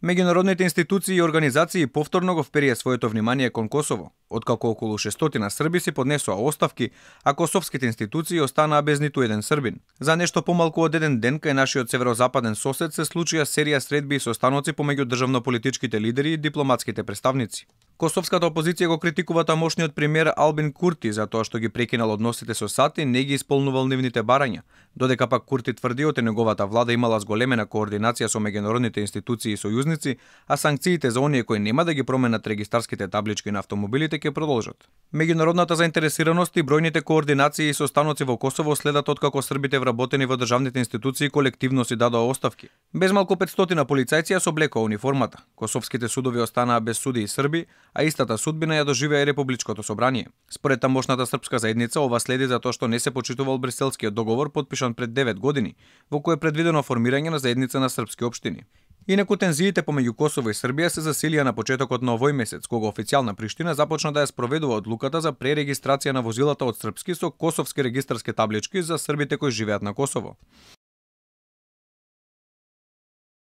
Меѓународните институции и организации повторно го вперија своето внимание кон Косово, откако околу 600 срби си поднесоа оставки, а косовските институции останаа без ниту еден србин. За нешто помалку од еден ден кај нашиот северозападен сосед се случија серија средби и состаноци помеѓу државно-политичките лидери и дипломатските представници. Косовската опозиција го критикува тамошниот премиер Албин Курти за тоа што ги прекинал односите со САД и не ги исполнувал нивните барања, додека пак Курти тврди дека неговата влада имала зголемена координација со меѓународните институции и сојузници, а санкциите за оние кои нема да ги променат регистарските таблички на автомобилите ќе продолжат. Меѓународната заинтересираност и бројните координации и состаноци во Косово следат откако србите вработени во државните институции колективно си дадоа оставки. Без малку 500 полицајци ја соблекоа униформата. Косовските судови останаа без суди и срби, а истата судбина ја доживеа и Републичкото собрание. Според тамошната српска заедница, ова следи затоа што не се почитувал Бриселскиот договор подпишан пред 9 години, во кој е предвидено формирање на заедница на српски општини. Инаку тензиите помеѓу Косово и Србија се засилија на почетокот на овој месец, кога официјална Приштина започна да ја спроведува одлуката за пререгистрација на возилата од српски со косовски регистарски таблички за србите кои живеат на Косово.